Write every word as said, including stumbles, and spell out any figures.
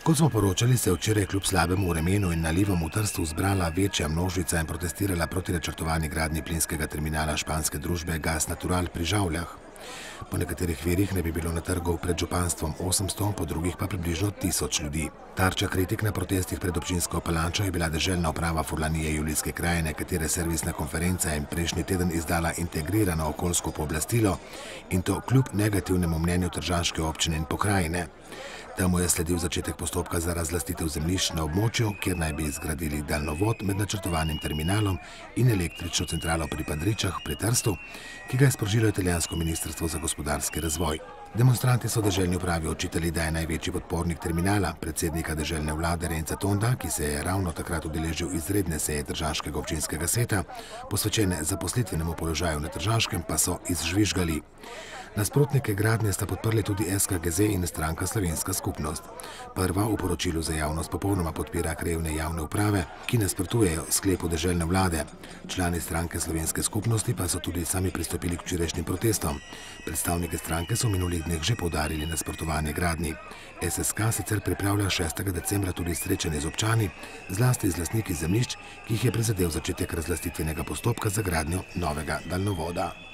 Kot smo poročali, se je včeraj kljub slabemu vremenu in nalivom v Trstu zbrala večja množica in protestirala proti načrtovani gradnji plinskega terminala španske družbe Gas Natural pri Žavljah. Po nekaterih virih ne bi bilo na trgu pred županstvom osemsto, po drugih pa približno tisoč ljudi. Tarča kritik na protestih pred občinsko Palančo je bila deželna uprava Furlanije Julijske krajine, katere servisna konferenca je prejšnji teden izdala integrirano okoljsko pooblastilo in to kljub negativnemu mnenju tržaške občine in pokrajine. Temu je sledil začetek postopka za razlastitev zemljišč na območju, kjer naj bi zgradili daljnovod med načrtovanim terminalom in električno centralo pri Padričah pri Trstu, ki ga je sprožilo italijansko ministrstvo za gospodarski razvoj. Demonstranti so deželni upravi očitali, da je največji podpornik terminala, predsednika deželne vlade Renza Tonda, ki se je ravno takrat udeležil izredne seje Tržaškega občinskega sveta, posvečene zaposlitvenemu položaju na Tržaškem, pa so izžvižgali. Nasprotnike gradnje sta podprli tudi S K G Z in stranka Slovenska skupnost. Prva v poročilu za javnost popolnoma podpira krajevne javne uprave, ki nasprotujejo sklepu deželne vlade. Člani stranke Slovenske skupnosti pa so tudi sami pristopili k včerajšnjim protestom. Predstavniki stranke so v minulih dneh že poudarili nasprotovanje gradnji. S S K sicer pripravlja šestega decembra tudi srečanje z občani, zlasti z lastniki zemljišč, ki jih je prizadel začetek razlastitvenega postopka za gradnjo novega daljnovoda.